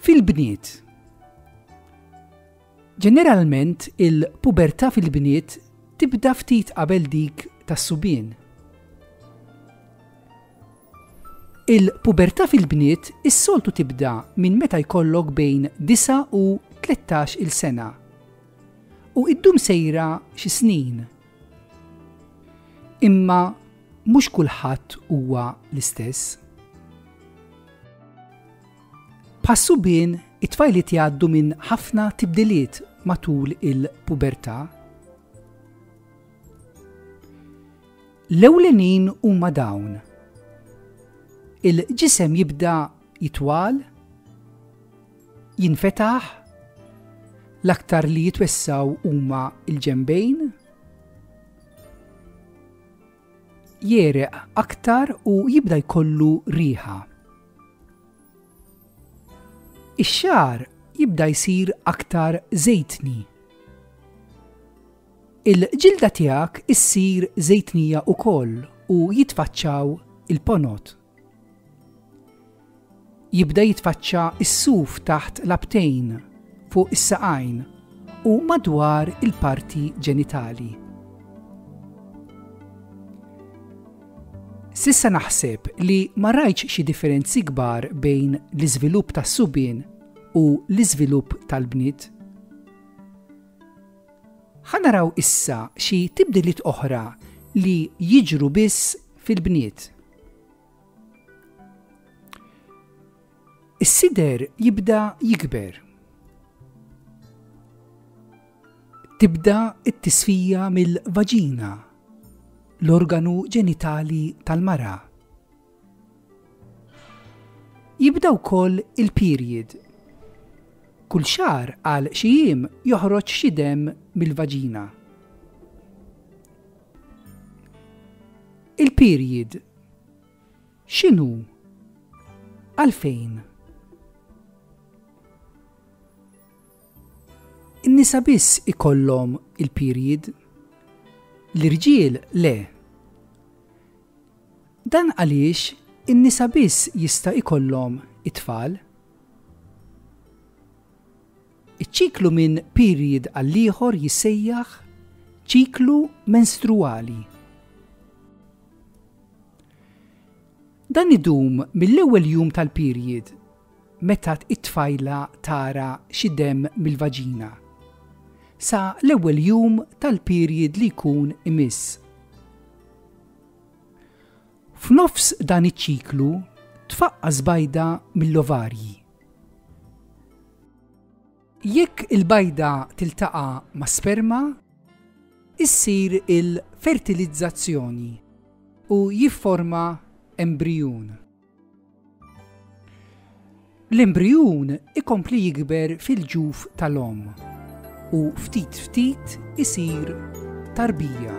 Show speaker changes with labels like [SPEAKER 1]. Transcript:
[SPEAKER 1] Fil-bniet. Ġeneralment il-pubertà fil-bniet tibda ftit qabel dik tas-subien. Il-pubertà fil-bniet is-soltu tibda minn meta jkollok bejn 9 u 13 il sena u iddum sejra xi snin. Imma mhux kulħadd huwa l-istess. Bħas-subien, it-tfajliet jgħaddu minn ħafna tibdiliet matul il-pubertà. L-ewlenin huma dawn. Il-ġisem jibda jitwal, jinfetaħ, l-aktar li jitwessgħu huma l-ġenbejn, jegħreq aktar u jibda jkollu riħa. Ix-xagħar jibda jsir aktar żejtni. Il-ġilda tiegħek issir żejtnija wkoll u jitfaċċaw il-ponot. Jibda jitfaċċa s-suf taħt l-abtejn, fuq is-saqajn u madwar il-parti ġenitali. S'issa naħseb li ma rajtx xi differenzi kbar bejn l-iżvilupp tas-subien u l-iżvilupp tal-bniet. Ħa naraw issa xi tibdiliet oħra li jiġru biss fil-bniet. Is-sider jibda jikber. Tibda t-tisfija mill-vaġina, l-organu ġenitali tal-mara. Jibda wkoll il-period. Kull xahar għal xi jiem joħroġ xi demm mill-vaġina. Il-period x'inhu? Għalfejn? In-nisa biss ikollhom il-period. L-irġiel le. Dan għaliex in-nisa biss jista' jkollhom it-tfal. Iċ-ċiklu minn period għall-ieħor jissejjaħ ċiklu menstruwali. Dan idum mill-ewwel jum tal-period, meta t-tfajla tara xi demm mill-vaġina, sa l-ewwel jum tal-period li jkun imiss. F'nofs dan iċ-ċiklu tfaqqas bajda mill-ovarji. Jekk il-bajda tiltaqa' ma' sperma, issir il-fertilizzazzjoni u jifforma embrijun. L-embrijun ikompli jikber fil-ġuf tal-omm u ftit ftit isir tarbija.